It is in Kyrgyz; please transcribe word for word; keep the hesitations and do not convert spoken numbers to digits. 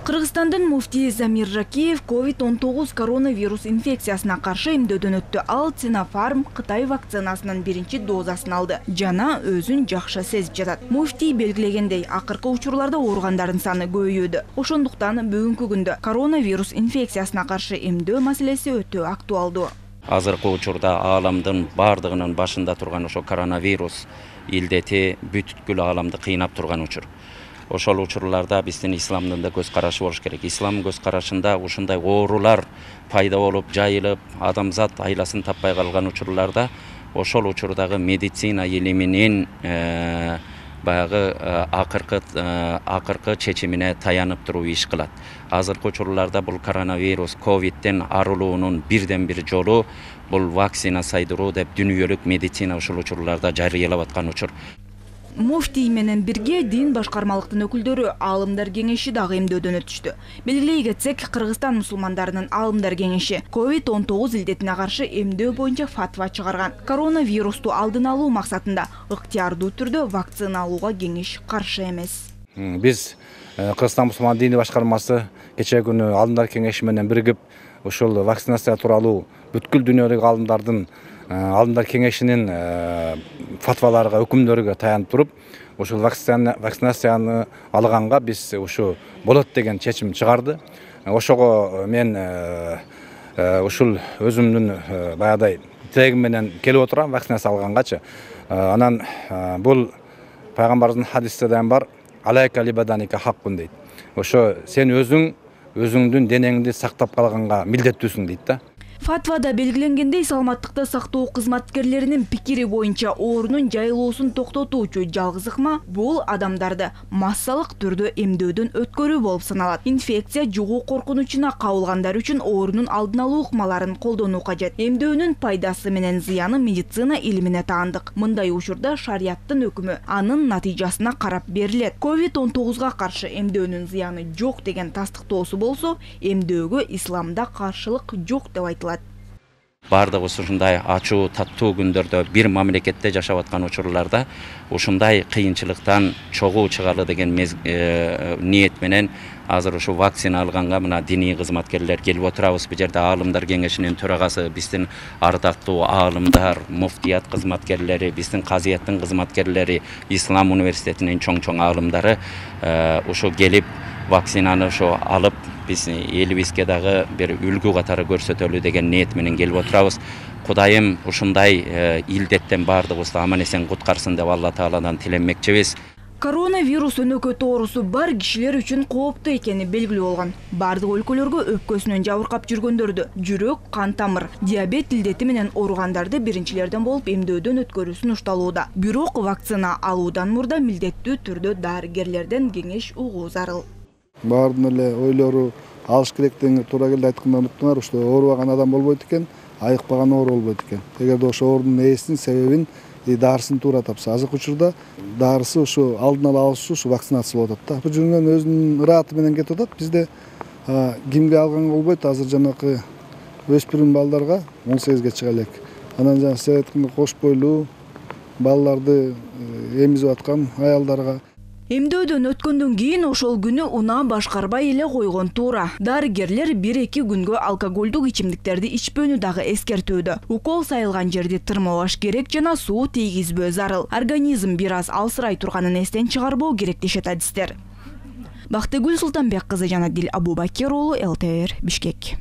Кыргызстандын муфтии Замир Жакиев ковид он тогуз коронавирус инфекциясына каршы эмдөөдөн өттү. Ал Sinopharm Кытай вакцинасынын биринчи дозасын алды. Жана өзүн жакшы сезип жатат. Муфтий белгилегендей, акыркы учурларда ооругандардын саны көбөйүүдө. Ошондуктан бүгүнкү күндө коронавирус инфекциясына каршы эмдөө маселеси өтө актуалдуу. Азыркы учурда ааламдын бардыгынын башында турган ошо коронавирус илдети бүткүл ааламды кыйнап турган учур. Ошол учурларда биздин исламдын да көз карашы болуш керек. Ислам көз карашында ушундай оорулар пайда болуп, жайылып, адамзат айласын таппай калган учурларда ошол учурдагы медицина илиминин э, баягы акыркы акыркы чечимине таянып туруп иш кылат. Азыркы учурларда бул коронавирус, ковидтен арылуунун бирден бир жолу бул вакцина сайдыруу деп дүйнөлүк медицина ушул учурларда жарыялап аткан учур. Муфтий менен бирге дин башкармалыктын өкүлдөрү Аалымдар кеңеши дагы эмдөөдөн өтүштү. Белгилей кетсек, Кыргызстан мусулмандарынын Аалымдар кеңеши ковид он тогуз илдетине каршы эмдөө боюнча фатва чыгарган. Коронавирусту алдын алуу максатында ыктыярдуу түрдө вакцина алууга кеңеш каршы эмес. Биз Кыргызстан мусулман дини башкармасы кечээ күнү Аалымдар кеңеши менен биригип ушул вакцинация тууралуу бүткүл дүйнөлүк аалымдардын Аалымдар кеңешинин фатваларга, өкүмдөргө таянып туруп, ушул вакцинацияны алганга биз ушу болот деген чечим чыгарды. Ошого мен ушул өзүмдүн баягыдай тилегим менен келип отурам вакцинация алгангачы. Анан бул пайгамбардын хадисте дайым бар, алайка либаданика хаккун дейт. Ошо сен өзүң өзүңдүн денеңди сактап калганга милдеттүүсүң дейт да. Фатвада белгиленгендей, саламаттыкты сактоо кызматкерлеринин пикири боюнча оорунун жайылуусун токтотуучу жалгыз ыкма бул адамдарды массалык түрдө эмдөөдөн өткөрүү болуп саналат. Инфекция жугуу коркунучуна кабылгандар үчүн оорунун алдын алуу ыкмаларын колдонуу кажет. Эмдөөнүн пайдасы менен зыяны медицина илимине таандык. Мындай учурда шарияттын өкүмү анын натыйжасына карап берилет. ковид он тогузга каршы эмдөөнүн зыяны жок деген тастыктоосу болсо, эмдөөгө исламда каршылык жок деп айтылат. Бардык ушундай ачуу, таттуу күндөрдө бир мамлекетте жашап аткан учурларда ушундай кыйынчылыктан чогуу чыгалы деген ниет менен азыр ушу вакцина алганга мына диний кызматкерлер келип отурабыз. Бул жерде Аалымдар кеңешинин төрагасы, биздин ардактуу аалымдар, муфтият кызматкерлери, биздин казыяттын кызматкерлери, Ислам университетинин чоң-чоң аалымдары ушу келип вакцинаны ошо алып, биз элибизге дагы бир үлгү катары көрсөтөлү деген ниет менен келип отурабыз. Кудайым ушундай илдеттен бардыгыбызды аман эсен куткарсын деп Алла Тааладан тилемекчибиз. Коронавирус өнөкөт оорусу бар кишилер үчүн кооптуу экени белгилүү болгон. Бардык өлкөлөргө өпкөсүнөн жабыркап жүргөндөрдү, жүрөк, кан тамыр, диабет илдети менен ооругандарды биринчилерден болуп эмдөөдөн өткөрүү сунушталууда. Бирок вакцина алуудан мурда милдеттүү түрдө дарыгерлерден кеңеш угуу зарыл. Баардын эле ойлору алыш керек деген туура келди айтканда уnuттуңар, ошо оорубаган адам болбойт экен, айыкпаган оору болбойт экен. Эгерде ошо оорунун ээсин, себебин, дарысын туура тапса, азыркы учурда дарысы ушу алдын ала алышуу ушу вакцинация болуп атат да. Бул жүргөн өзүнүн ырааты менен кетип атат. Бизде кимге алганга болбойт, азыр жанакы өспүрүм балдарга он сегизге чыга элек. Анан жана сиз айткандай кош бойлуу балдарды эмизип аткан аялдарга Эмдөөдөн өткөндөн кийин ошол күнү унаа башкарбай эле койгон туура. Дарыгерлер бир-эки күнгө алкоголдук ичимдиктерди ичпөөнү дагы эскертүүдө. Укол сайылган жерди тырмабаш керек жана суу тийгизбөө зарыл. Организм бир аз алсырай турганын эстен чыгарбоо керек дешет адистер. Бактыгүл Султанбек кызы жана Дил Абубакир уулу, эл тэ эр, Бишкек.